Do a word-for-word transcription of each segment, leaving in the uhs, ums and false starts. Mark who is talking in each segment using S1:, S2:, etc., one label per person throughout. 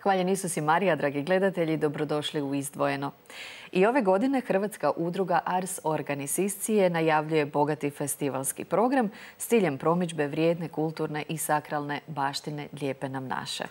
S1: Hvaljen Isus i Marija, dragi gledatelji, dobrodošli u Izdvojeno. I ove godine Hrvatska udruga Ars Organiciscije najavljuje bogati festivalski program s ciljem promidžbe vrijedne, kulturne i sakralne baštine Lijepe nam naše.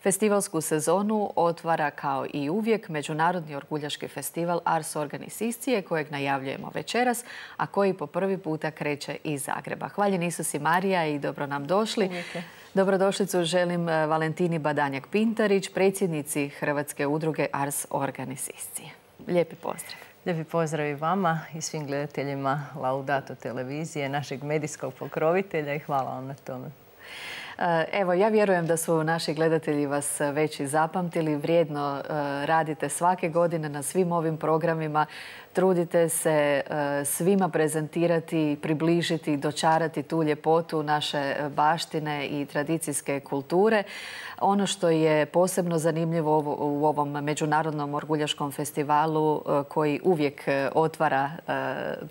S1: Festivalsku sezonu otvara kao i uvijek Međunarodni orguljaški festival Ars Organiciscije kojeg najavljujemo večeras, a koji po prvi puta kreće iz Zagreba. Hvaljen Isus i Marija i dobro nam došli.
S2: Uvijek.
S1: Dobrodošlicu želim Valentini Badanjak-Pintarić, predsjednici Hrvatske udruge Ars Organiciscije. Lijepi pozdrav.
S2: Lijepi pozdrav i vama i svim gledateljima Laudato televizije, našeg medijskog pokrovitelja i hvala vam na tome.
S1: Evo, ja vjerujem da su naši gledatelji vas već i zapamtili. Vrijedno radite svake godine na svim ovim programima. Trudite se svima prezentirati, približiti, dočarati tu ljepotu naše baštine i tradicijske kulture. Ono što je posebno zanimljivo u ovom Međunarodnom orguljaškom festivalu koji uvijek otvara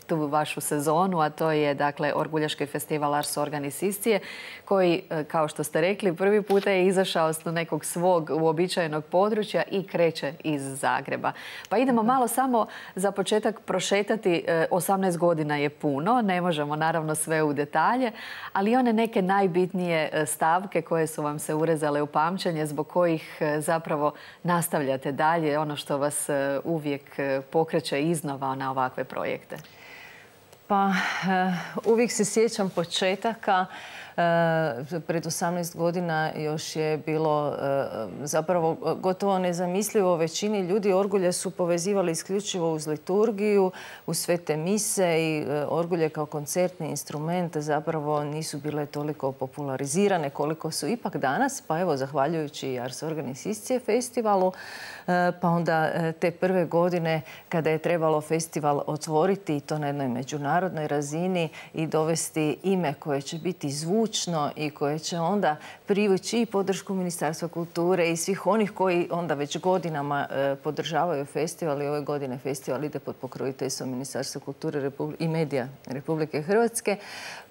S1: tu vašu sezonu, a to je dakle Orguljaški festival Ars Organiciscije koji, kao što ste rekli, prvi puta je izašao s nekog svog uobičajenog područja i kreće iz Zagreba. Pa idemo malo samo za početak prošetati. osamnaest godina je puno, ne možemo naravno sve u detalje, ali one neke najbitnije stavke koje su vam se urezale u pamćenje, zbog kojih zapravo nastavljate dalje, ono što vas uvijek pokreće iznova na ovakve projekte.
S2: Pa uvijek se sjećam početaka. Pred osamnaest godina još je bilo zapravo gotovo nezamislivo. Većini ljudi orgulje su povezivali isključivo uz liturgiju, uz svete mise i orgulje kao koncertni instrument zapravo nisu bile toliko popularizirane koliko su ipak danas. Pa evo, zahvaljujući Ars Organiciscije festivalu, pa onda te prve godine kada je trebalo festival otvoriti i to na jednoj međunarodnoj razini i dovesti ime koje će biti zvučno i koje će onda privući i podršku Ministarstva kulture i svih onih koji onda već godinama podržavaju festival. I ove godine festival ide pod pokroviteljstvom Ministarstva kulture i medija Republike Hrvatske.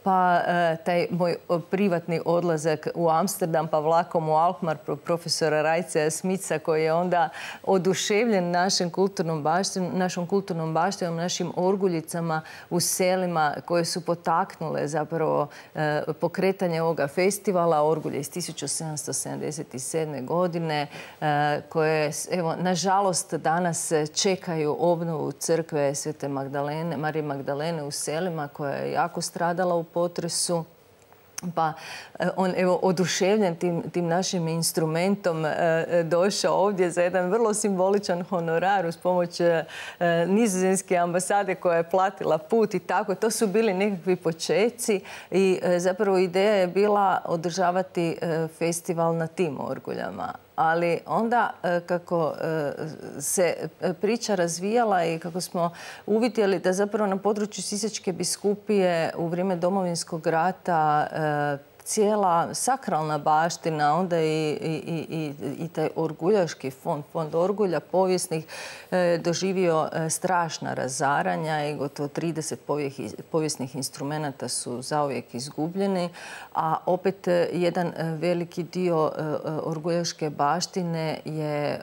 S2: Pa taj moj privatni odlazak u Amsterdam, pa vlakom u Alkmaar profesora Rajca Smica, koji je onda oduševljen našom kulturnom baštinom, našom kulturnom baštinom, našim orguljicama u selima koje su potaknule zapravo pokretanje ovoga festivala, orgulje iz tisuću sedamsto sedamdeset sedme. godine, koje, evo, nažalost, danas čekaju obnovu crkve Svete Magdalene, Marije Magdalene u selima, koja je jako stradala u potresu. Pa on, evo, oduševljen tim, tim našim instrumentom došao ovdje za jedan vrlo simboličan honorar uz pomoć nizozemske ambasade koja je platila put i tako. To su bili nekakvi počeci i zapravo ideja je bila održavati festival na tim orguljama. Ali onda kako se priča razvijala i kako smo uvidjeli da zapravo na području Sisačke biskupije u vrijeme Domovinskog rata cijela sakralna baština, onda i, i, i, i taj orguljaški fond, fond orgulja povijesnih doživio strašna razaranja i gotovo trideset povijesnih instrumenata su zauvijek izgubljeni, a opet jedan veliki dio orguljaške baštine je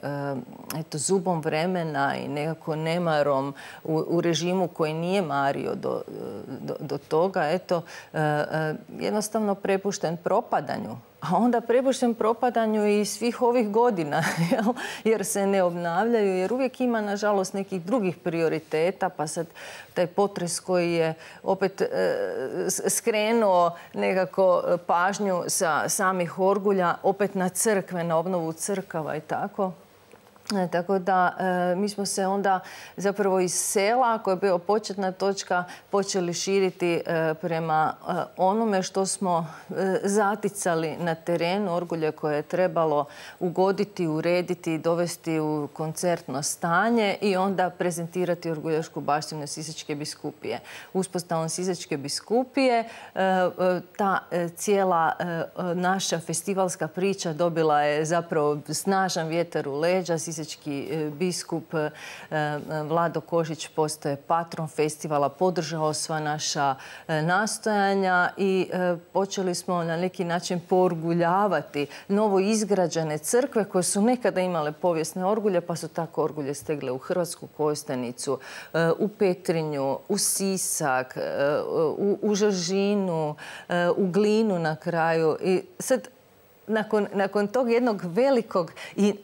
S2: eto, zubom vremena i nekako nemarom u, u režimu koji nije mario do, do, do toga, eto, jednostavno prepušten propadanju. A onda prepušten propadanju i svih ovih godina, jer se ne obnavljaju, jer uvijek ima, nažalost, nekih drugih prioriteta, pa sad taj potres koji je opet skrenuo nekako pažnju sa samih orgulja, opet na crkve, na obnovu crkava i tako. Tako da mi smo se onda zapravo iz sela, koja je bila početna točka, počeli širiti prema onome što smo zaticali na terenu, orgulje koje je trebalo ugoditi, urediti, dovesti u koncertno stanje i onda prezentirati orguljašku baštinu Sisačke biskupije. Uspostavom Sisačke biskupije ta cijela naša festivalska priča dobila je zapravo snažan vjetar u leđa. Sisački biskup Vlado Kožić postaje patron festivala, podržao sva naša nastojanja i počeli smo na neki način poorguljavati novo izgrađene crkve koje su nekada imale povijesne orgulje, pa su tako orgulje stegle u Hrvatsku Kostajnicu, u Petrinju, u Sisak, u, u Žažinu, u Glinu na kraju. I sad Nakon, nakon tog jednog velikog, i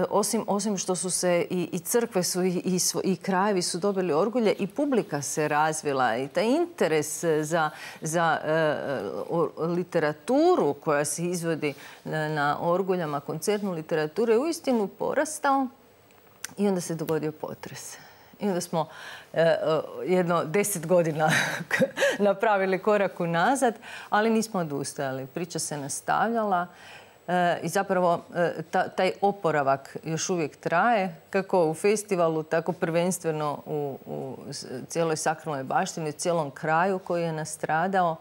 S2: osim, osim što su se i, i crkve su i, i, i krajevi su dobili orgulje, i publika se razvila i taj interes za, za uh, literaturu koja se izvodi na orguljama, koncertnu literaturu, je uistinu porastao i onda se dogodio potres. I onda smo eh, jedno deset godina napravili korak unazad, ali nismo odustajali. Priča se nastavljala eh, i zapravo eh, ta, taj oporavak još uvijek traje, kako u festivalu, tako prvenstveno u, u cijeloj sakralnoj baštini, u cijelom kraju koji je nastradao.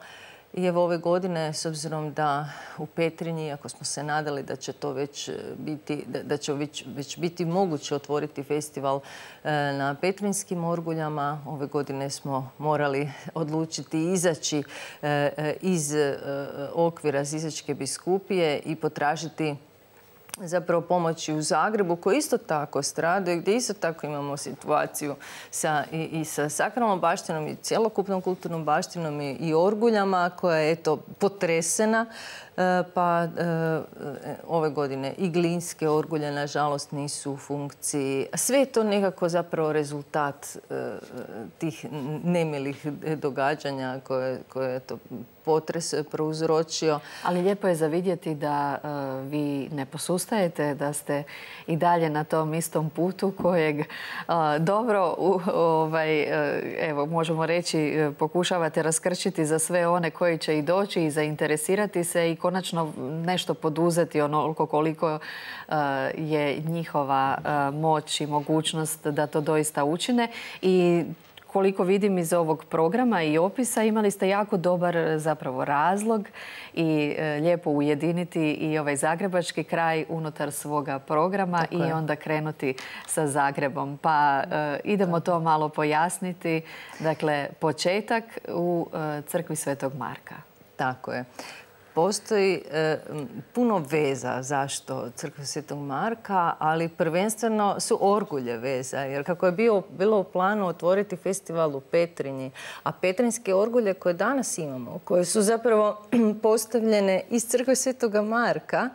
S2: I evo ove godine, s obzirom da u Petrinji, ako smo se nadali da će to već biti, da, da će već, već biti moguće otvoriti festival e, na petrinjskim orguljama, ove godine smo morali odlučiti izaći e, iz e, okvira Sisačke biskupije i potražiti zapravo pomoći u Zagrebu, koji isto tako stradaju, gdje isto tako imamo situaciju sa, i, i sa sakralnom baštinom i cjelokupnom kulturnom baštinom i, i orguljama koja je eto potresena. Pa ove godine i glinske orgulje, nažalost, nisu u funkciji. Sve je to nekako zapravo rezultat tih nemilih događanja koje, koje je to potres prouzročio.
S1: Ali lijepo je za vidjeti da uh, vi ne posustajete, da ste i dalje na tom istom putu kojeg uh, dobro, uh, ovaj, uh, evo, možemo reći, uh, pokušavate raskrčiti za sve one koji će i doći i zainteresirati se i konačno nešto poduzeti onoliko koliko uh, je njihova uh, moć i mogućnost da to doista učine. I koliko vidim iz ovog programa i opisa, imali ste jako dobar zapravo razlog i e, lijepo ujediniti i ovaj zagrebački kraj unutar svoga programa i onda krenuti sa Zagrebom. Pa e, idemo to malo pojasniti. Dakle, početak u e, crkvi Svetog Marka.
S2: Tako je. Postoji e, puno veza zašto crkva Svetog Marka, ali prvenstveno su orgulje veza. Jer kako je bio, bilo u planu otvoriti festival u Petrinji, a petrinjske orgulje koje danas imamo, koje su zapravo postavljene iz crkve Svetoga Marka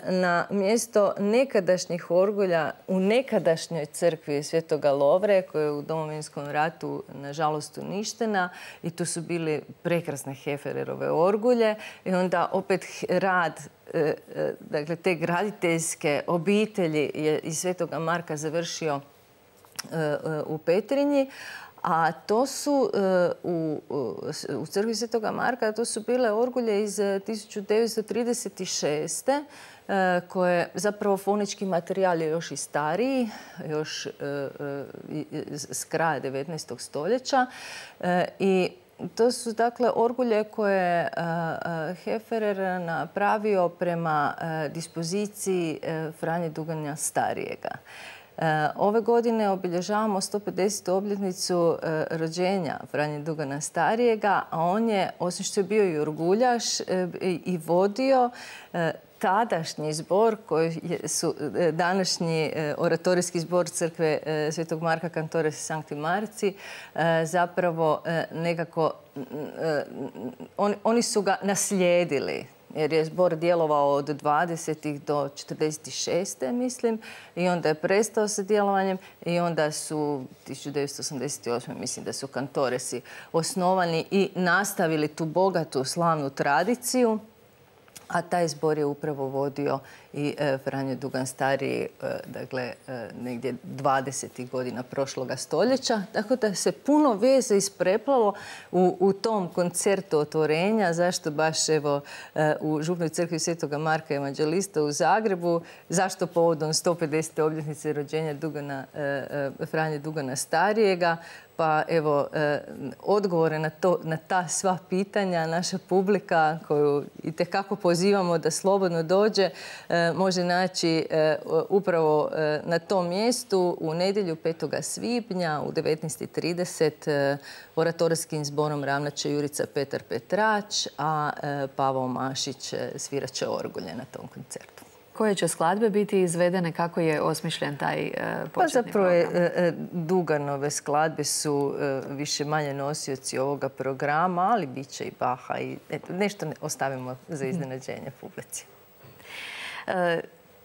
S2: na mjesto nekadašnjih orgulja u nekadašnjoj crkvi Svetoga Lovre, koja je u Domovinskom ratu nažalost uništena, i tu su bili prekrasne Hefererove orgulje i onda opet rad dakle, te graditeljske obitelji je iz Svetoga Marka završio u Petrinji. A to su u, u crkvi Svetoga Marka, to su bile orgulje iz tisuću devetsto trideset šeste koje zapravo fonički materijal je još i stariji, još s kraja devetnaestog stoljeća. I to su dakle orgulje koje je Heferer napravio prema dispoziciji Franje Duganja Starijega. Ove godine obilježavamo sto pedesetu obljetnicu rođenja Franje Dugana Starijega, a on je, osim što je bio i orguljaš, i vodio tadašnji zbor koji su današnji oratorijski zbor crkve Svetog Marka Cantore Sancti Marci, zapravo nekako oni su ga naslijedili. Jer je zbor djelovao od dvadesetih do četrdeset šeste mislim, i onda je prestao sa djelovanjem i onda su tisuću devetsto osamdeset osme mislim da su kantoresi osnovani i nastavili tu bogatu slavnu tradiciju, a taj zbor je upravo vodio i Franjo Dugan stariji, dakle, negdje dvadesetih godina prošloga stoljeća. Tako da se puno veze ispreplalo u, u tom koncertu otvorenja. Zašto baš evo u Župnoj crkvi Svetoga Marka Evanđelista u Zagrebu? Zašto povodom sto pedesete obljetnice rođenja Dugana, Franje Dugana starijega? Pa evo, odgovore na, to, na ta sva pitanja naša publika, koju itekako pozivamo da slobodno dođe, može naći upravo na tom mjestu u nedjelju petog svibnja u devetnaest i trideset oratorskim zborom ravnat će Jurica Petar Petrač, a Pavao Mašić svirat će orgulje na tom koncertu.
S1: Koje će skladbe biti izvedene? Kako je osmišljen taj uh, početni
S2: Pa zapravo
S1: program?
S2: Je, Duganove skladbe su uh, više manje nosioci ovoga programa, ali bit će i Baha i eto, nešto ostavimo za iznenađenje publici.
S1: Uh,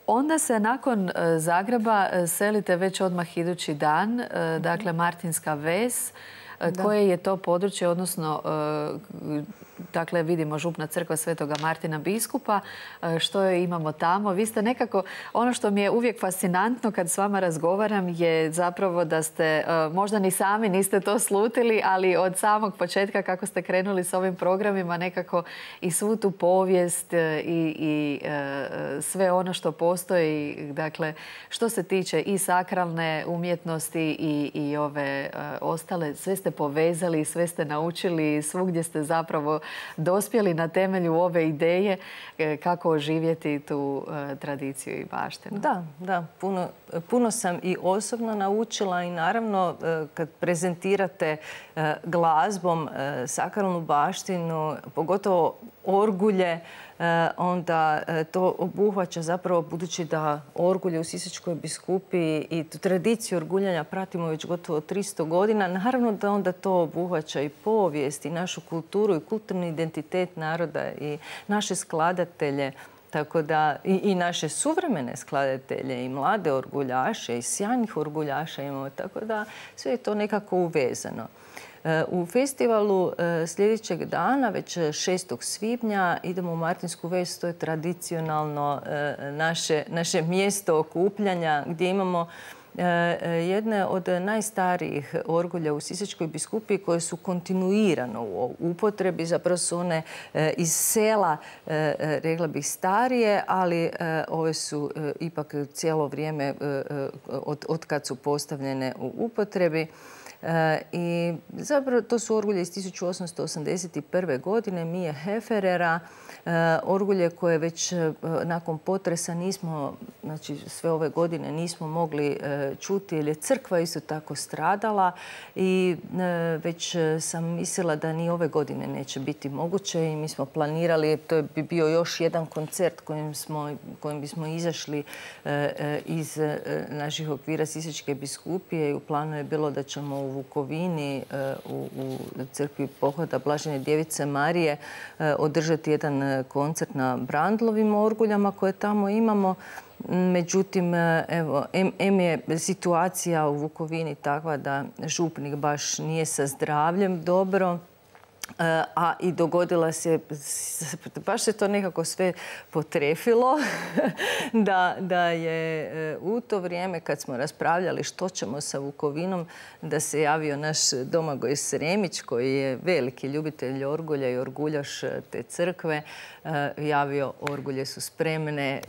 S1: onda se nakon uh, Zagreba uh, selite već odmah idući dan, uh, dakle Martinska ves. Da. Koje je to područje, odnosno dakle vidimo Župna crkva Svetoga Martina biskupa, što je imamo tamo. Vi ste nekako, ono što mi je uvijek fascinantno kad s vama razgovaram je zapravo da ste, možda ni sami niste to slutili, ali od samog početka kako ste krenuli s ovim programima nekako i svu tu povijest i, i sve ono što postoji, dakle što se tiče i sakralne umjetnosti i, i ove ostale, sve ste povezali, sve ste naučili, svugdje ste zapravo dospjeli na temelju ove ideje kako oživjeti tu tradiciju i baštinu.
S2: Da, da. Puno, puno sam i osobno naučila i naravno kad prezentirate glazbom sakralnu baštinu, pogotovo orgulje, onda to obuhvaća zapravo, budući da orgulje u Sisačkoj biskupiji i tu tradiciju orguljanja pratimo već gotovo tristo godina, naravno da onda to obuhvaća i povijest i našu kulturu i kulturni identitet naroda i naše skladatelje. Tako da i, i naše suvremene skladatelje i mlade orguljaše i sjajnih orguljaša imamo, tako da sve je to nekako uvezano. U festivalu sljedećeg dana, već šestog svibnja, idemo u Martinsku ves. To je tradicionalno naše, naše mjesto okupljanja gdje imamo jedne od najstarijih orgulja u Sisačkoj biskupiji koje su kontinuirano u upotrebi. Zapravo su one iz sela, rekla bih, starije, ali ove su ipak cijelo vrijeme od, od kad su postavljene u upotrebi. I zapravo to su orgulje iz tisuću osamsto osamdeset prve. godine Mije Heferera, orgulje koje već nakon potresa nismo, znači sve ove godine nismo mogli čuti jer je crkva isto tako stradala i već sam mislila da ni ove godine neće biti moguće i mi smo planirali, to bi bio još jedan koncert kojim, smo, kojim bismo izašli iz naših okvira Sisačke biskupije i u planu je bilo da ćemo u Vukovini u, u crkvi Pohoda Blažene djevice Marije održati jedan koncert na Brandlovim orguljama koje tamo imamo. Međutim, evo, em, em je situacija u Vukovini takva da župnik baš nije sa zdravljem dobro, a i dogodila se, baš se to nekako sve potrefilo, da, da je u to vrijeme kad smo raspravljali što ćemo sa Vukovinom, da se javio naš Domagoj Sremić, koji je veliki ljubitelj orgulja i orguljaš te crkve, javio orgulje su spremne,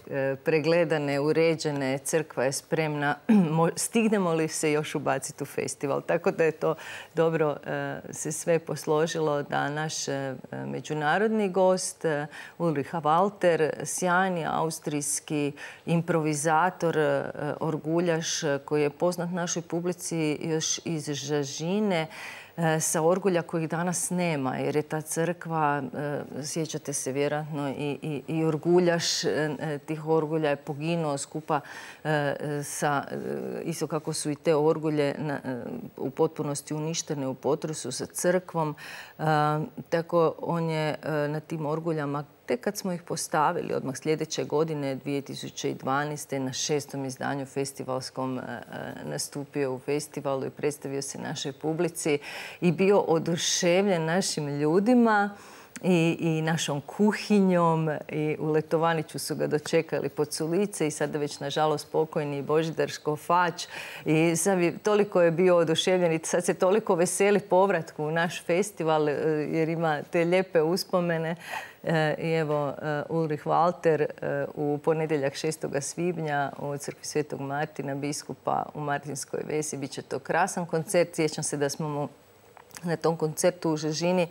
S2: pregledane, uređene, crkva je spremna, stignemo li se još ubaciti u festival. Tako da je to dobro se sve posložilo da naš međunarodni gost Ulrich Walter, sjajni austrijski improvizator, orguljaš koji je poznat našoj publici još iz Žažine, sa orgulja kojih danas nema, jer je ta crkva, sjećate se vjerojatno, i, i, i orguljaš tih orgulja je poginuo skupa sa, isto kako su i te orgulje na, u potpunosti uništene u potresu sa crkvom. Tako on je na tim orguljama, tek kad smo ih postavili odmah sljedeće godine, dvije tisuće dvanaeste. na šestom izdanju festivalskom nastupio u festivalu i predstavio se našoj publici i bio oduševljen našim ljudima. i, i našom kuhinjom. I u Letovaniću su ga dočekali pod sulice i sada već nažalost pokojni Božidar Škofač. I sad bi, toliko je bio oduševljen i sad se toliko veseli povratku u naš festival jer ima te lijepe uspomene. I evo, Ulrich Walter u ponedjeljak šestoga svibnja u crkvi Svetog Martina, biskupa u Martinskoj Vesi. Biće to krasan koncert. Sjećam se da smo mu na tom koncertu u Žežini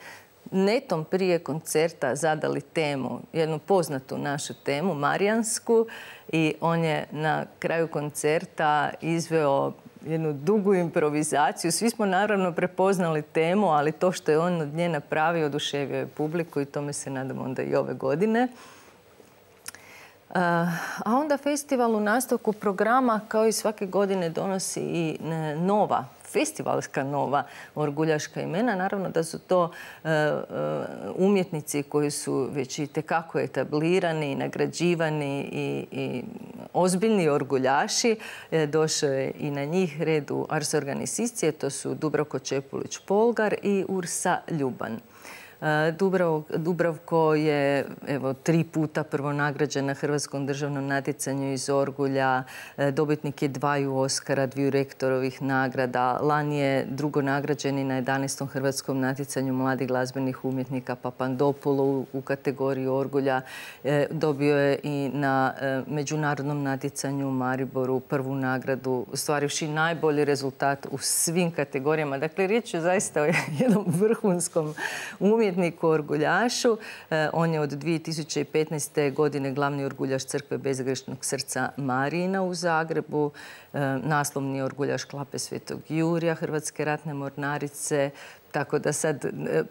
S2: netom prije koncerta zadali temu, jednu poznatu našu temu, marijansku, i on je na kraju koncerta izveo jednu dugu improvizaciju. Svi smo naravno prepoznali temu, ali to što je on od nje napravio oduševio je publiku i tome se nadam onda i ove godine. A onda festival u nastavku programa kao i svake godine donosi i nova festivalska nova orguljaška imena. Naravno da su to uh, umjetnici koji su već i tekako etablirani, nagrađivani i, i ozbiljni orguljaši. E, došao je i na njih red u Ars Organizacije. To su Dubravko Čepulić-Polgar i Ursa Ljuban. Dubravko je evo, tri puta prvo nagrađen na Hrvatskom državnom natjecanju iz orgulja. Dobitnik je dvaju Oskara, dviju rektorovih nagrada. Lani je drugo nagrađeni na jedanaestom Hrvatskom natjecanju mladih glazbenih umjetnika Papandopoulou u kategoriji orgulja. Dobio je i na međunarodnom natjecanju u Mariboru prvu nagradu, ostvarivši najbolji rezultat u svim kategorijama. Dakle, riječ je zaista o jednom vrhunskom umjetniku, orguljašu. On je od dvije tisuće petnaeste. godine glavni orguljaš Crkve Bezgrešnog srca Marijina u Zagrebu, naslovni orguljaš Klape Svetog Jurija, Hrvatske ratne mornarice. Tako da sad,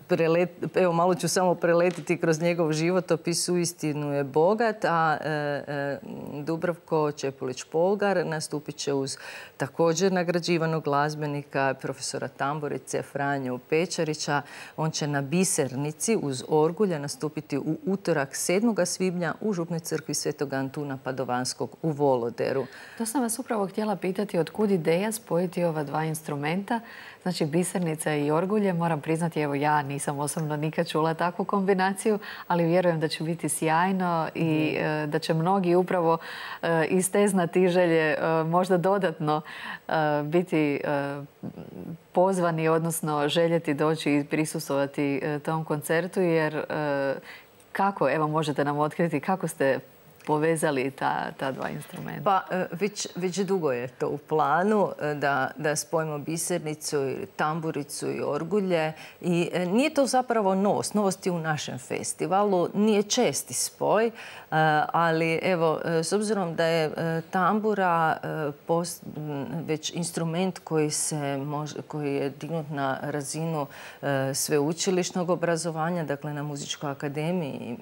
S2: prelet, evo malo ću samo preletiti kroz njegov životopis, uistinu je bogat, a e, e, Dubravko Čepulić-Polgar nastupit će uz također nagrađivanog glazbenika, profesora tamburice Franju Pečarića. On će na Bisernici uz orgulja nastupiti u utorak sedmoga svibnja u Župnoj crkvi Svetog Antuna Padovanskog u Voloderu.
S1: To sam vas upravo htjela pitati od kud ideja spojiti ova dva instrumenta, znači Bisernica i orgulje. Moram priznati, evo ja nisam osobno nikad čula takvu kombinaciju, ali vjerujem da će biti sjajno i mm. da će mnogi upravo iz te znatiželje možda dodatno biti pozvani, odnosno željeti doći i prisustvovati tom koncertu, jer kako, evo možete nam otkriti kako ste povezali ta, ta dva instrumenta?
S2: Pa već, već dugo je to u planu da, da spojimo Bisernicu, tamburicu i orgulje. I nije to zapravo novost. Novost je u našem festivalu. Nije česti spoj, ali evo, s obzirom da je tambura post, već instrument koji, se može, koji je dignut na razinu sveučilišnog obrazovanja, dakle na Muzičkoj akademiji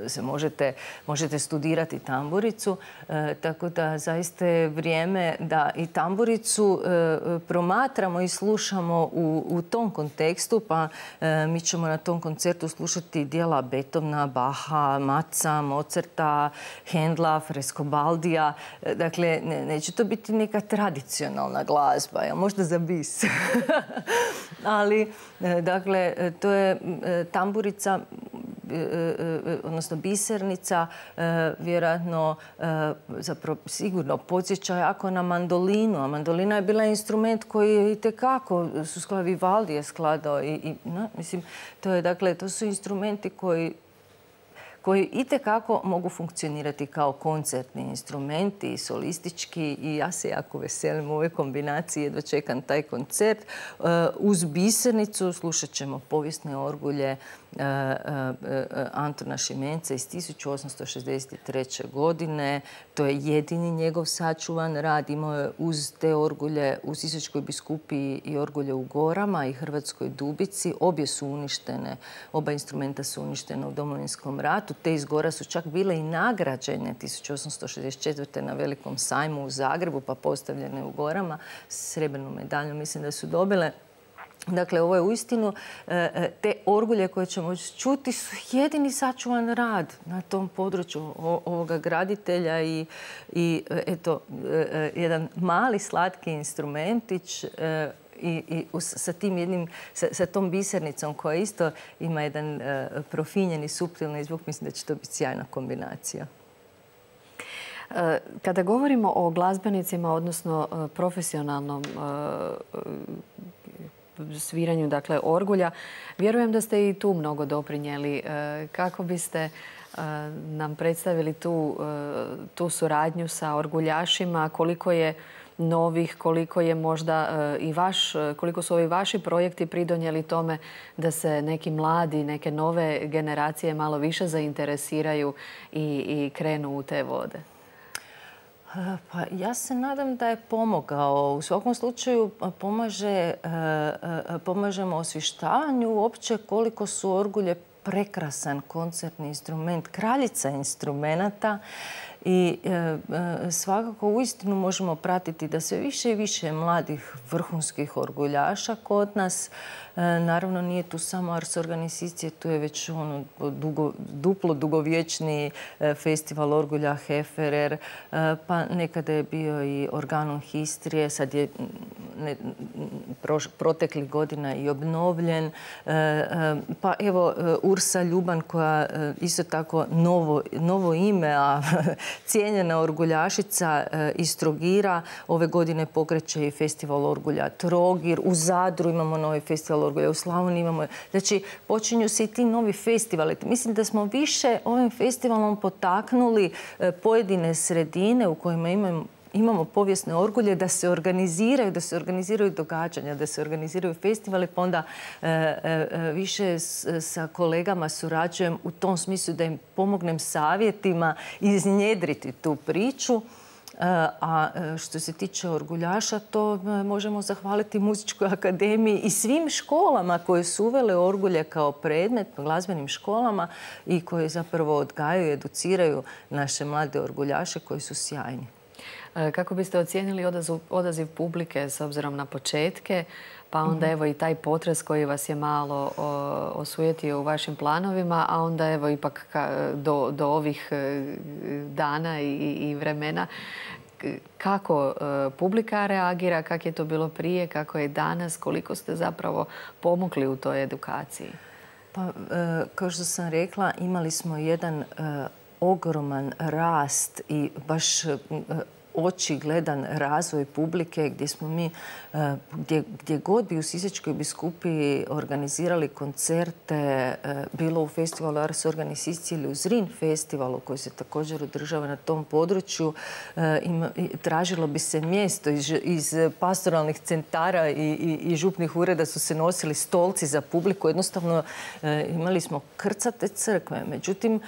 S2: se možete, možete studirati tamburicu, e, tako da zaista je vrijeme da i tamburicu e, promatramo i slušamo u, u tom kontekstu, pa e, mi ćemo na tom koncertu slušati dijela Beethovena, Baha, Matza, Mozarta, Hendla, Frescobaldija. E, dakle, ne, neće to biti neka tradicionalna glazba, ja, možda za bis. Ali, e, dakle, to je e, tamburica, odnosno Bisernica, vjerojatno zapravo sigurno podsjeća jako na mandolinu, a mandolina je bila instrument koji je itekako su Vivaldi je skladao i, i no, mislim, to je, dakle, to su instrumenti koji koji itekako mogu funkcionirati kao koncertni instrumenti, solistički, i ja se jako veselim u ovoj kombinaciji, jedva čekam taj koncert. Uz Bisernicu slušat ćemo povijesne orgulje Antuna Šimenca iz tisuću osamsto šezdeset treće. godine. To je jedini njegov sačuvan rad. Imao je uz te orgulje u Sisačkoj biskupiji i orgulje u Gorama i Hrvatskoj Dubici. Obje su uništene, oba instrumenta su uništene u Domovinskom ratu. Te iz Gora su čak bile i nagrađene tisuću osamsto šezdeset četvrte. na velikom sajmu u Zagrebu, pa postavljene u Gorama. Srebrnu medalju mislim da su dobile. Dakle, ovo je uistinu, te orgulje koje ćemo čuti su jedini sačuvan rad na tom području ovoga graditelja i, i eto, jedan mali slatki instrumentić i, i sa tim jednim, sa, sa tom bisernicom koja isto ima jedan uh, profinjeni, suptilni zvuk, mislim da će to biti sjajna kombinacija.
S1: Kada govorimo o glazbenicima, odnosno profesionalnom sviranju, dakle, orgulja, vjerujem da ste i tu mnogo doprinijeli. Kako biste nam predstavili tu, tu suradnju sa orguljašima, koliko je novih, koliko je možda i vaš, koliko su ovi vaši projekti pridonijeli tome da se neki mladi, neke nove generacije malo više zainteresiraju i, i krenu u te vode?
S2: Pa ja se nadam da je pomogao. U svakom slučaju pomaže, pomažemo osvještavanju uopće koliko su orgulje prekrasan koncertni instrument, kraljica instrumenata. I e, svakako uistinu možemo pratiti da sve više i više mladih vrhunskih orguljaša kod nas. E, naravno nije tu samo Ars Organizacije, tu je već ono dugo, duplo dugovječni festival orgulja Heferer, e, pa nekada je bio i Organon Histrije, sad je ne, proš, proteklih godina i obnovljen. E, e, pa evo Ursa Ljuban koja isto tako novo, novo ime, a cijenjena orguljašica iz Trogira. Ove godine pokreće i festival orgulja Trogir. U Zadru imamo novi festival orgulja, u Slavoniji imamo. Znači, počinju se i ti novi festivali. Mislim da smo više ovim festivalom potaknuli pojedine sredine u kojima imamo imamo povijesne orgulje da se organiziraju, da se organiziraju događanja, da se organiziraju festivali, pa onda e, e, više s, sa kolegama surađujem u tom smislu da im pomognem savjetima iznjedriti tu priču. A što se tiče orguljaša, to možemo zahvaliti Muzičkoj akademiji i svim školama koje su uvele orgulje kao predmet, glazbenim školama i koje zapravo odgajaju i educiraju naše mlade orguljaše koji su sjajni.
S1: Kako biste ocijenili odaziv, odaziv publike s obzirom na početke, pa onda evo i taj potres koji vas je malo o, osujetio u vašim planovima, a onda evo ipak ka, do, do ovih dana i, i vremena. Kako publika reagira, kako je to bilo prije, kako je danas, koliko ste zapravo pomogli u toj edukaciji?
S2: Pa, kao što sam rekla, imali smo jedan ogroman rast i baš očigledan razvoj publike gdje smo mi, gdje, gdje god bi u Sisačkoj biskupiji organizirali koncerte, bilo u festivalu Ars Organizacije ili u Zrin festivalu koji se također održava na tom području, ima, tražilo bi se mjesto iz, iz pastoralnih centara i, i, i župnih ureda su se nosili stolci za publiku. Jednostavno imali smo krcate crkve. Međutim,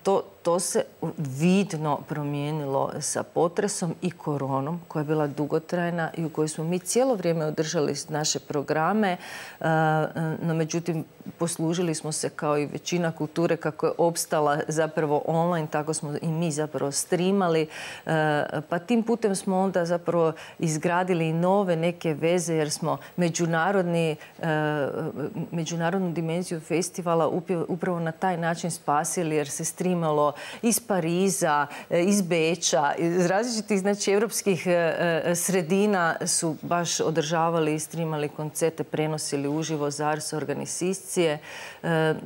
S2: to To se vidno promijenilo sa potresom i koronom koja je bila dugotrajna i u kojoj smo mi cijelo vrijeme održali naše programe. No, međutim, poslužili smo se kao i većina kulture kako je opstala zapravo online, tako smo i mi zapravo streamali. Pa tim putem smo onda zapravo izgradili i nove neke veze jer smo međunarodni, međunarodnu dimenziju festivala upravo na taj način spasili jer se streamalo iz Pariza, iz Beča, iz različitih znači, evropskih sredina su baš održavali i streamali koncerte, prenosili uživo za Ars Organizacije.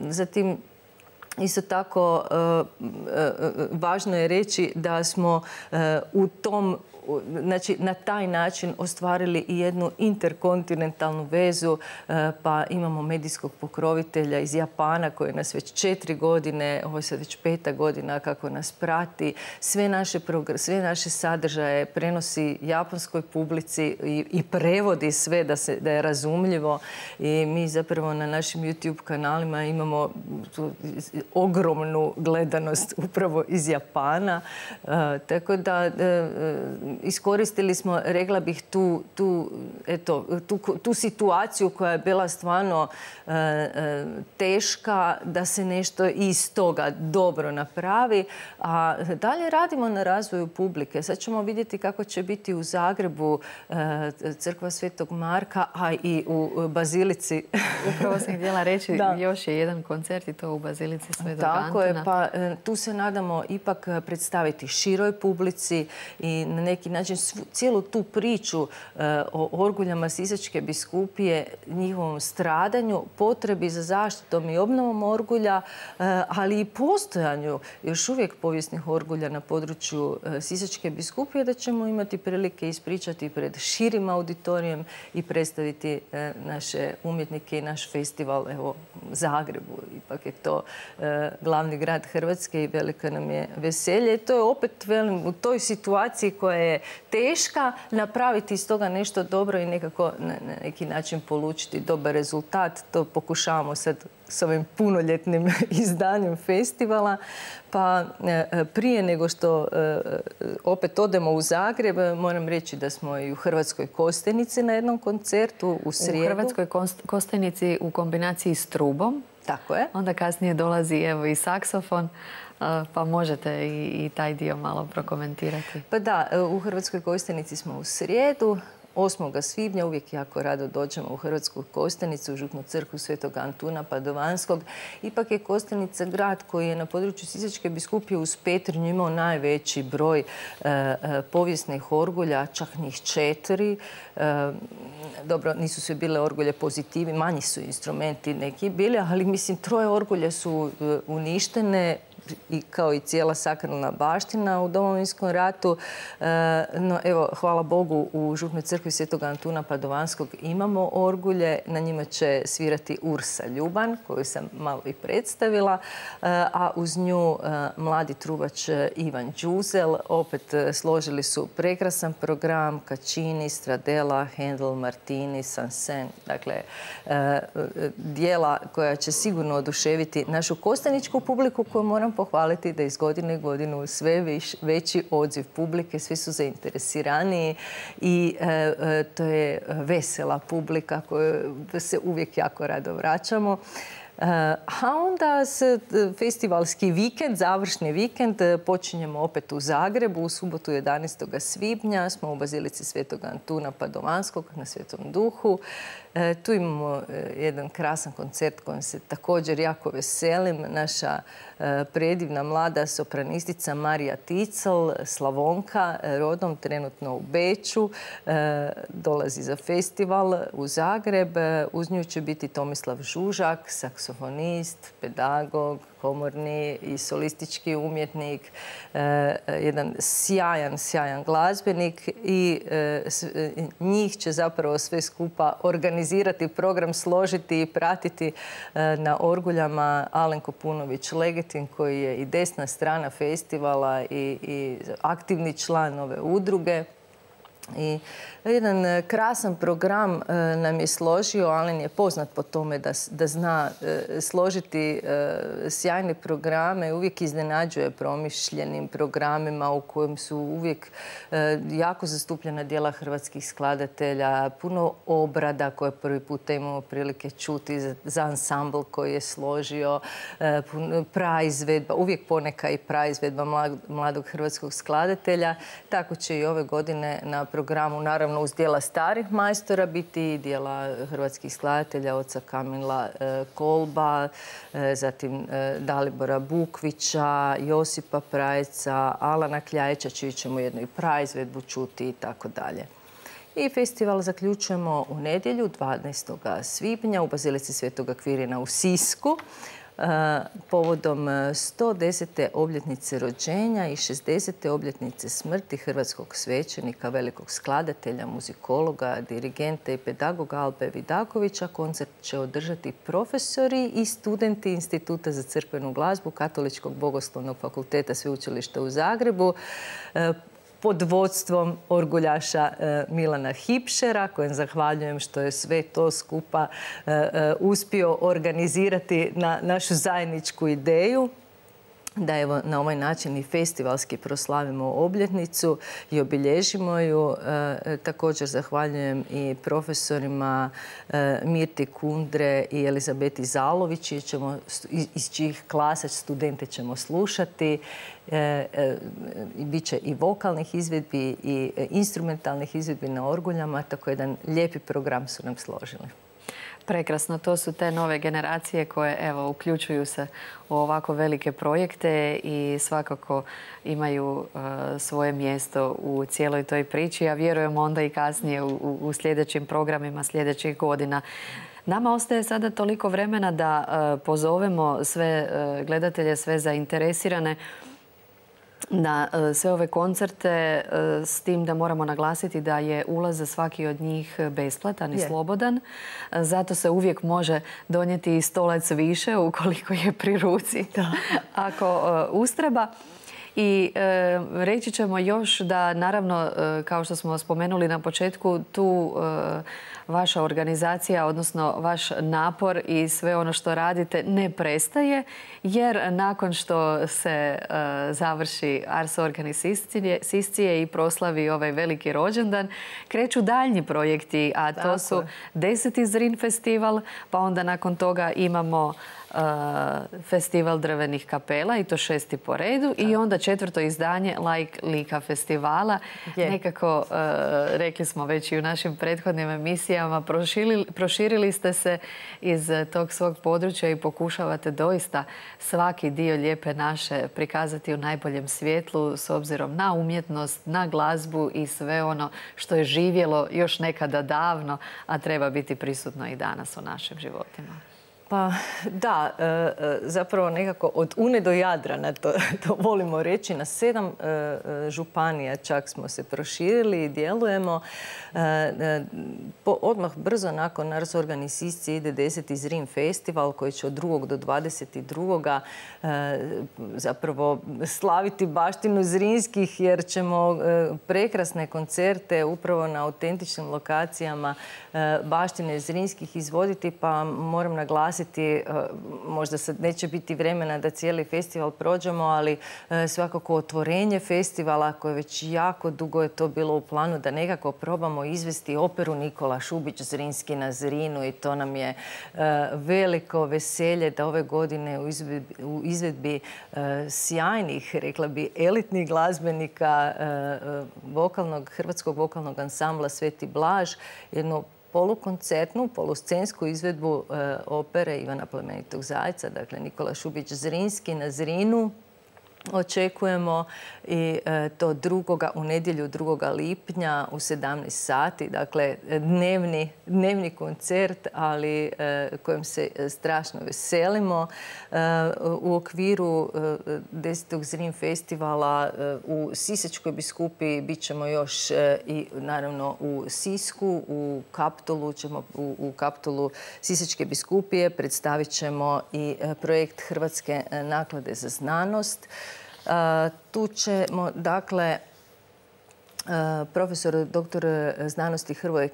S2: Zatim, isto tako, važno je reći da smo u tom Znači, na taj način ostvarili i jednu interkontinentalnu vezu, pa imamo medijskog pokrovitelja iz Japana koji nas već četiri godine, ovo je sad već peta godina kako nas prati, sve naše, sve naše sadržaje prenosi japanskoj publici i, i prevodi sve da, se, da je razumljivo i mi zapravo na našim YouTube kanalima imamo ogromnu gledanost upravo iz Japana, tako da iskoristili smo, rekla bih, tu, tu, eto, tu, tu situaciju koja je bila stvarno e, e, teška da se nešto iz toga dobro napravi. A dalje radimo na razvoju publike. Sad ćemo vidjeti kako će biti u Zagrebu e, crkva Svetog Marka, a i u Bazilici.
S1: Upravo sam htjela reći, da. Još je jedan koncert i to u Bazilici konzervaciji Svetog Antuna.
S2: Tako je, pa tu se nadamo ipak predstaviti široj publici i na neki način cijelu tu priču o orguljama Sisačke biskupije, njihovom stradanju, potrebi za zaštitom i obnovom orgulja, ali i postojanju još uvijek povijesnih orgulja na području Sisačke biskupije, da ćemo imati prilike ispričati pred širim auditorijem i predstaviti naše umjetnike i naš festival evo, u Zagrebu. Ipak je to e, glavni grad Hrvatske i veliko nam je veselje. I to je opet velim, u toj situaciji koja je teška napraviti iz toga nešto dobro i nekako na, na neki način polučiti dobar rezultat. To pokušavamo sad s ovim punoljetnim izdanjem festivala. Pa e, prije nego što e, opet odemo u Zagreb, moram reći da smo i u Hrvatskoj Kostajnici na jednom koncertu u srijedu.
S1: U Hrvatskoj Kostajnici u kombinaciji s trubom.
S2: Tako je.
S1: Onda kasnije dolazi evo i saksofon, pa možete i, i taj dio malo prokomentirati.
S2: Pa da, u Hrvatskoj Kostajnici smo u srijedu. osmog svibnja uvijek jako rado dođemo u Hrvatsku Kostajnicu, u Župnu crkvu Svetog Antuna Padovanskog. Ipak je Kostajnica grad koji je na području Sisačke biskupije uz Petrinju imao najveći broj e, e, povijesnih orgulja, čak njih četiri. E, dobro, nisu sve bile orgulje pozitivi, manji su instrumenti neki bili, ali mislim troje orgulja su e, uništene, i kao i cijela sakralna baština u Domovinskom ratu. No, evo, hvala Bogu, u Župnoj crkvi Svetog Antuna Padovanskog imamo orgulje. Na njima će svirati Ursa Ljuban, koju sam malo i predstavila, a uz nju mladi trubač Ivan Đuzel. Opet složili su prekrasan program Caccini, Stradella, Handel, Martini, Sansen. Dakle, dijela koja će sigurno oduševiti našu kostajničku publiku, koju moram pohvaliti da iz godine u godinu sve već, veći odziv publike, svi su zainteresiraniji i e, to je vesela publika koju se uvijek jako rado vraćamo. A onda se festivalski vikend, završni vikend, počinjemo opet u Zagrebu. U subotu jedanaestog svibnja smo u Bazilici Svetog Antuna Padovanskog na Svetom Duhu. E, tu imamo jedan krasan koncert kojim se također jako veselim. Naša e, predivna mlada sopranistica Marija Ticel, Slavonka, rodom trenutno u Beču, e, dolazi za festival u Zagreb. Uz nju će biti Tomislav Žužak, saksofonist, pedagog, komorni i solistički umjetnik, e, jedan sjajan, sjajan glazbenik i e, s, e, njih će zapravo sve skupa organizirati program, složiti i pratiti e, na orguljama Alenko Punović-Legetin, koji je i desna strana festivala i, i aktivni član ove udruge. I jedan krasan program nam je složio. Alen je poznat po tome da, da zna složiti sjajne programe. Uvijek iznenađuje promišljenim programima u kojem su uvijek jako zastupljena djela hrvatskih skladatelja, puno obrada koje prvi puta imamo prilike čuti za ansambl koji je složio, praizvedba, uvijek poneka i praizvedba mladog hrvatskog skladatelja. Tako će i ove godine na programu, naravno uz dijela starih majstora, biti i dijela hrvatskih skladatelja, oca Kamila Kolba, zatim Dalibora Bukvića, Josipa Prajeca, Alana Kljajića, čiju ćemo jednu i praizvedbu čuti i tako dalje. I festival zaključujemo u nedjelju, dvanaestog svibnja, u Bazilici Svetog Akvirina u Sisku, povodom sto desete obljetnice rođenja i šezdesete obljetnice smrti hrvatskog svećenika, velikog skladatelja, muzikologa, dirigenta i pedagoga Albe Vidakovića. Koncert će održati profesori i studenti Instituta za crkvenu glazbu Katoličkog bogoslovnog fakulteta Sveučilišta u Zagrebu pod vodstvom orguljaša Milana Hipšera, kojem zahvaljujem što je sve to skupa uspio organizirati na našu zajedničku ideju. Da evo na ovaj način i festivalski proslavimo obljetnicu i obilježimo ju. E, također zahvaljujem i profesorima e, Mirti Kundre i Elizabeti Zalović, ćemo, iz, iz čijih klasa studente ćemo slušati. E, e, Biće i vokalnih izvedbi i instrumentalnih izvedbi na orguljama, tako jedan lijepi program su nam složili.
S1: Prekrasno, to su te nove generacije koje evo uključuju se u ovako velike projekte i svakako imaju uh, svoje mjesto u cijeloj toj priči, a vjerujemo onda i kasnije u, u sljedećim programima sljedećih godina. Nama ostaje sada toliko vremena da uh, pozovemo sve uh, gledatelje, sve zainteresirane na sve ove koncerte, s tim da moramo naglasiti da je ulaz za svaki od njih besplatan i slobodan. Zato se uvijek može donijeti i stolac više ukoliko je pri ruci, ako ustreba. I e, reći ćemo još da, naravno, e, kao što smo spomenuli na početku, tu e, vaša organizacija, odnosno vaš napor i sve ono što radite ne prestaje, jer nakon što se e, završi Ars Organi Siscije i proslavi ovaj veliki rođendan, kreću daljnji projekti, a to Tako. su deseti Zrin festival, pa onda nakon toga imamo festival drvenih kapela i to šesti po redu i onda četvrto izdanje Like Lika festivala. Je. Nekako, rekli smo već i u našim prethodnim emisijama, proširili, proširili ste se iz tog svog područja i pokušavate doista svaki dio Lijepe naše prikazati u najboljem svjetlu s obzirom na umjetnost, na glazbu i sve ono što je živjelo još nekada davno, a treba biti prisutno i danas u našim životima.
S2: Pa da, zapravo nekako od Une do Jadrana, to, to volimo reći, na sedam županija čak smo se proširili i djelujemo. Odmah brzo nakon Ars Organi Siscije ide deseti Zrin festival koji će od drugog do dvadeset drugog zapravo slaviti baštinu Zrinskih, jer ćemo prekrasne koncerte upravo na autentičnim lokacijama baštine Zrinskih izvoditi, pa moram naglasiti, možda sad neće biti vremena da cijeli festival prođemo, ali svakako otvorenje festivala koje već jako dugo je to bilo u planu da nekako probamo izvesti operu Nikola Šubić Zrinski na Zrinu i to nam je veliko veselje da ove godine u izvedbi, u izvedbi sjajnih, rekla bi, elitnih glazbenika vokalnog, hrvatskog vokalnog ansambla Sveti Blaž, jedno polukoncertnu, poluscensku izvedbu e, opere Ivana Plemenitog Zajca, dakle Nikola Šubić Zrinski na Zrinu. Očekujemo i e, to drugoga, u nedjelju drugoga lipnja u sedamnaest sati, dakle dnevni, dnevni koncert, ali e, kojem se strašno veselimo. E, u okviru e, desetog Zrin festivala e, u Sisačkoj biskupiji bit ćemo još e, i naravno u Sisku, u Kaptolu ćemo, u, u Kaptolu Sisačke biskupije predstavit ćemo i e, projekt Hrvatske naklade za znanost. Uh, tu ćemo, dakle, uh, profesor doktor znanosti Hrvoje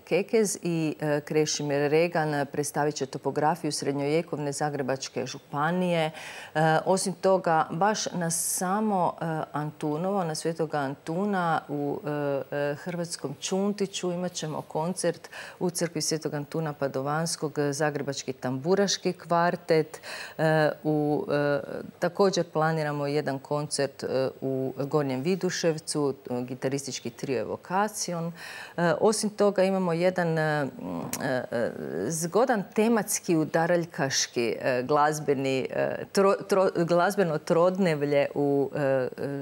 S2: Kekez i uh, Krešimir Regan predstavit će topografiju srednjovjekovne Zagrebačke županije. Uh, osim toga, baš na samo uh, Antunovo, na Svetoga Antuna u uh, Hrvatskom Čuntiću imat ćemo koncert u crkvi Svetog Antuna Padovanskog, Zagrebački tamburaški kvartet. Uh, u, uh, također planiramo jedan koncert uh, u Gornjem Viduševcu, uh, gitaristički trio Evokacion. Uh, osim toga imamo jedan uh, uh, zgodan tematski udaraljkaški uh, glazbeni uh, tro, tro, glazbeno trodnevlje u uh,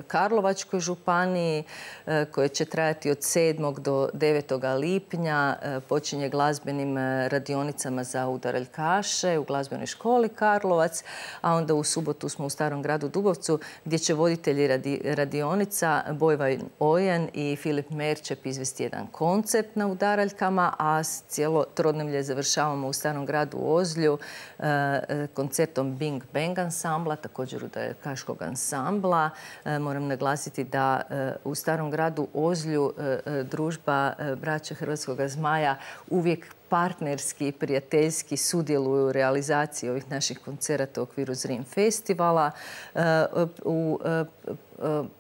S2: Karlovačkoj županiji uh, koje će trajati od sedmog do devetog lipnja. Uh, počinje glazbenim uh, radionicama za udaraljkaše u glazbenoj školi Karlovac, a onda u subotu smo u Starom gradu Dubovcu gdje će voditelji radi, radionica Bojvan Ojan i Filip Merčep izvesti jedan koncept na udaraljkama, a cijelo trodnevlje završavamo u Starom gradu Ozlju uh, koncertom Bing Bang ansambla, također udaraljkaškog ansambla. Uh, moram naglasiti da uh, u Starom gradu Ozlju uh, družba uh, braće Hrvatskoga zmaja uvijek partnerski i prijateljski sudjeluju u realizaciji ovih naših koncerata u okviru Zrin festivala. U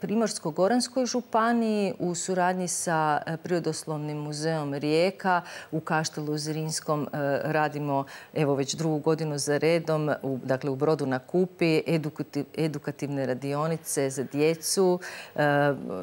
S2: Primorsko-goranskoj županiji u suradnji sa Prirodoslovnim muzeom Rijeka u Kaštelu Zrinskom radimo evo već drugu godinu za redom, u, dakle u Brodu na Kupi, edukativ, edukativne radionice za djecu. E,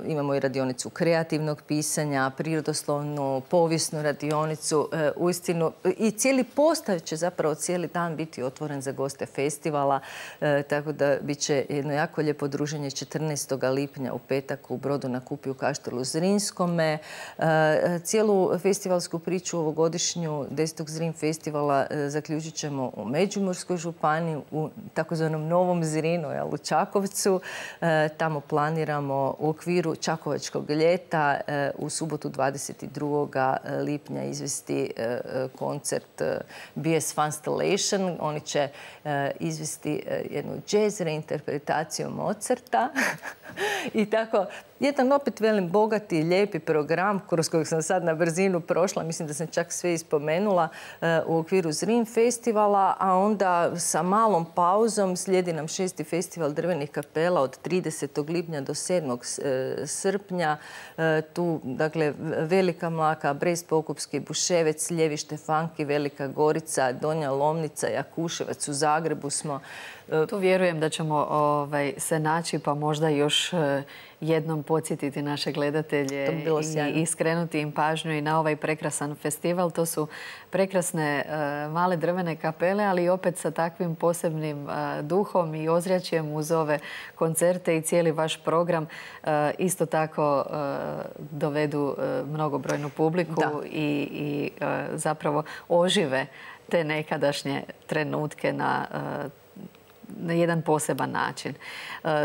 S2: imamo i radionicu kreativnog pisanja, prirodoslovnu, povijesnu radionicu. E, uistinu, i cijeli postav će zapravo cijeli dan biti otvoren za goste festivala, e, tako da bit će jedno jako lijepo druženje četrnaestog lipnja u petak u Brodu na Kupi u Kaštelu Zrinskome. E, cijelu festivalsku priču ovogodišnju desetog Zrin festivala e, zaključit ćemo u Međimurskoj županiji, u takozvanom Novom Zrinu, u Čakovcu. E, tamo planiramo u okviru Čakovačkog ljeta e, u subotu dvadeset drugog lipnja izvesti e, koncert e, B S Funstallation. Oni će e, izvesti e, jednu jazz reinterpretaciju Mozarta i tako jedan opet velim bogati, lijepi program kroz kojeg sam sad na brzinu prošla, mislim da sam čak sve ispomenula u okviru Zrin festivala, a onda sa malom pauzom slijedi nam šesti festival drvenih kapela od tridesetog lipnja do sedmog srpnja. Tu, dakle, Velika Mlaka, Brest, Pokupski, Buševec, Ljevi Štefanki, Velika Gorica, Donja Lomnica, Jakuševac, u Zagrebu smo.
S1: Tu vjerujem da ćemo ovaj, se naći, pa možda još jednom podsjetiti naše gledatelje i skrenuti im pažnju i na ovaj prekrasan festival. To su prekrasne uh, male drvene kapele, ali opet sa takvim posebnim uh, duhom i ozračjem uz ove koncerte i cijeli vaš program uh, isto tako uh, dovedu uh, mnogobrojnu publiku da. i, i uh, zapravo ožive te nekadašnje trenutke na uh, na jedan poseban način.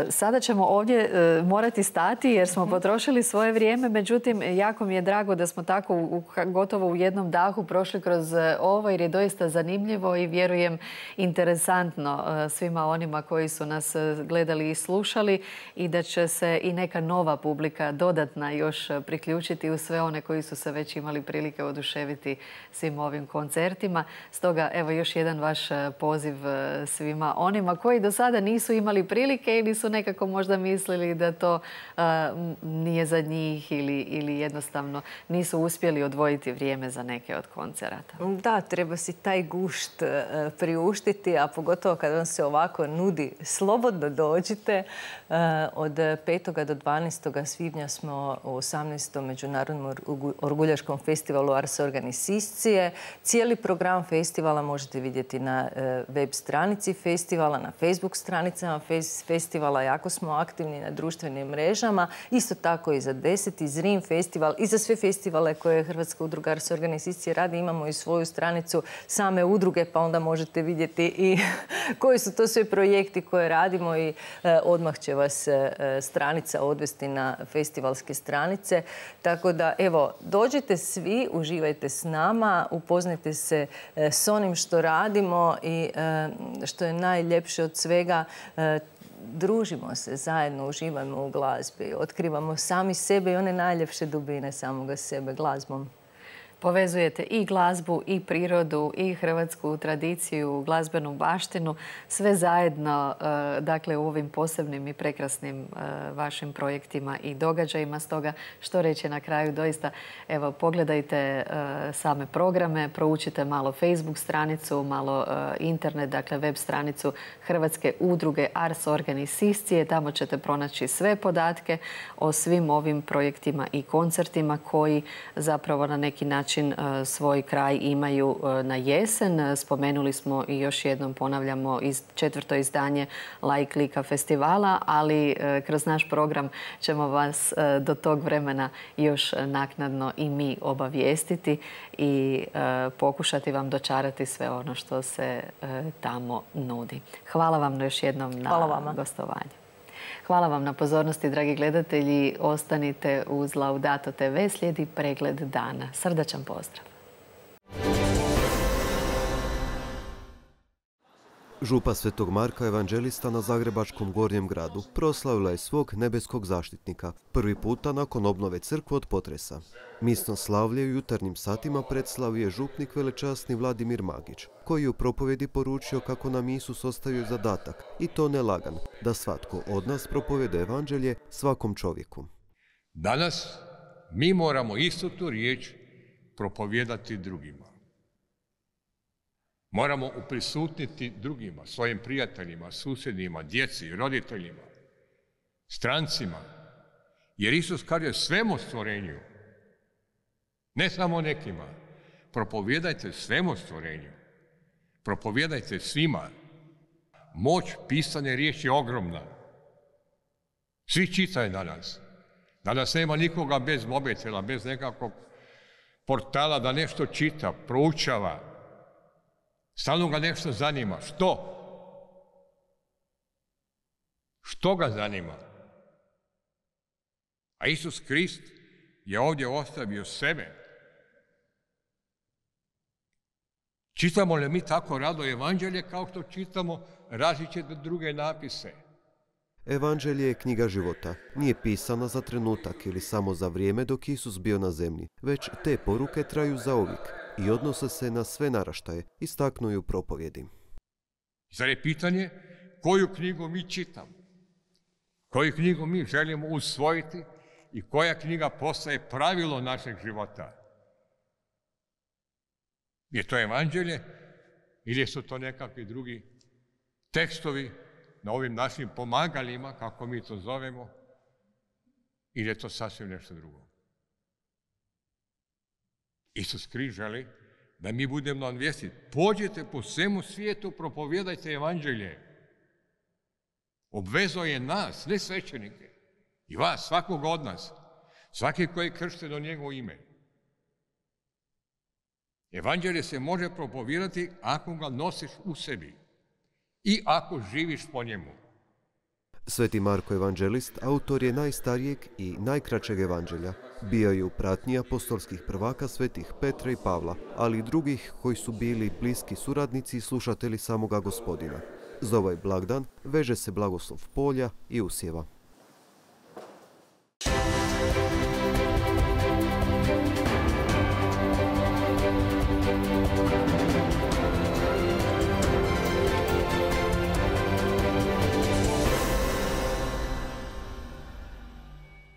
S1: Sada ćemo ovdje morati stati jer smo potrošili svoje vrijeme, međutim jako mi je drago da smo tako u, gotovo u jednom dahu prošli kroz ovo jer je doista zanimljivo i vjerujem interesantno svima onima koji su nas gledali i slušali i da će se i neka nova publika dodatna još priključiti u sve one koji su se već imali prilike oduševiti svim ovim koncertima. Stoga evo još jedan vaš poziv svima onima koji do sada nisu imali prilike ili su nekako možda mislili da to uh, nije za njih ili, ili jednostavno nisu uspjeli odvojiti vrijeme za neke od koncerata.
S2: Da, treba si taj gušt uh, priuštiti, a pogotovo kad vam se ovako nudi, slobodno dođite. Uh, od petog do dvanaestog svibnja smo u osamnaestom Međunarodnom orguljaškom festivalu Ars Organiciscije. Cijeli program festivala možete vidjeti na uh, web stranici festivala, na Facebook stranicama festivala. Jako smo aktivni na društvenim mrežama. Isto tako i za deseti Zrin festival i za sve festivale koje Hrvatska udruga Ars Organiciscije radi. Imamo i svoju stranicu same udruge, pa onda možete vidjeti i koji su to sve projekti koje radimo i e, odmah će vas e, stranica odvesti na festivalske stranice. Tako da, evo, dođite svi, uživajte s nama, upoznajte se e, s onim što radimo i e, što je najljepše od svega, e, družimo se zajedno, uživamo u glazbi, otkrivamo sami sebe i one najljepše dubine samoga sebe glazbom.
S1: Povezujete i glazbu, i prirodu, i hrvatsku tradiciju, glazbenu baštinu, sve zajedno dakle, u ovim posebnim i prekrasnim vašim projektima i događajima. Stoga, što reći na kraju, doista, evo, pogledajte same programe, proučite malo Facebook stranicu, malo internet, dakle, web stranicu Hrvatske udruge Ars Organiciscije. Tamo ćete pronaći sve podatke o svim ovim projektima i koncertima koji zapravo na neki način svoj kraj imaju na jesen. Spomenuli smo i još jednom ponavljamo iz četvrto izdanje Laik Lika festivala, ali kroz naš program ćemo vas do tog vremena još naknadno i mi obavijestiti i pokušati vam dočarati sve ono što se tamo nudi. Hvala vam još jednom na gostovanju. Hvala vam na pozornosti, dragi gledatelji. Ostanite uz Laudato te ve, slijedi pregled dana. Srdačan pozdrav.
S3: Župa Svetog Marka Evanđelista na Zagrebačkom Gornjem gradu proslavila je svog nebeskog zaštitnika, prvi puta nakon obnove crkve od potresa. Misno slavlje u jutarnjim satima predslavio je župnik velečasni Vladimir Magić, koji je u propovjedi poručio kako nam Isus ostavio zadatak, i to ne lagan, da svatko od nas propovjeda evanđelje svakom čovjeku.
S4: Danas mi moramo istu tu riječ propovijedati drugima. Moramo uprisutniti drugima, svojim prijateljima, susjedima, djeci, roditeljima, strancima. Jer Isus kaže svemu stvorenju, ne samo nekima. Propovijedajte svemu stvorenju. Propovijedajte svima. Moć pisane riječi je ogromna. Svi čitaju danas. Danas nema nikoga bez mobitela, bez nekakvog portala da nešto čita, proučava. Stalno ga nešto zanima. Što? Što ga zanima? A Isus Krist je ovdje ostavio sebe. Čitamo li mi tako rado evanđelje kao što čitamo različite druge napise?
S3: Evanđelje je knjiga života. Nije pisana za trenutak ili samo za vrijeme dok Isus bio na zemlji, već te poruke traju zauvijek i odnose se na sve naraštaje, istaknuju propovjedi.
S4: Zar je pitanje koju knjigu mi čitamo? Koju knjigu mi želimo usvojiti i koja knjiga postaje pravilo našeg života? Je to evanđelje ili su to nekakvi drugi tekstovi na ovim našim pomagalima, kako mi to zovemo, ili je to sasvim nešto drugo? Isus Krist želi da mi budemo na vijesti. Pođite po svemu svijetu, propovijedajte evanđelje. Obvezao je nas, ne svećenike, i vas, svakog od nas, svaki koji je kršten u njegovo ime. Evanđelje se može propovijedati ako ga nosiš u sebi i ako živiš po njemu.
S3: Sveti Marko Evanđelist autor je najstarijeg i najkraćeg evanđelja. Bio je u pratnji apostolskih prvaka svetih Petra i Pavla, ali i drugih koji su bili bliski suradnici i slušatelji samoga Gospodina. Za ovaj blagdan veže se blagoslov polja i usjeva.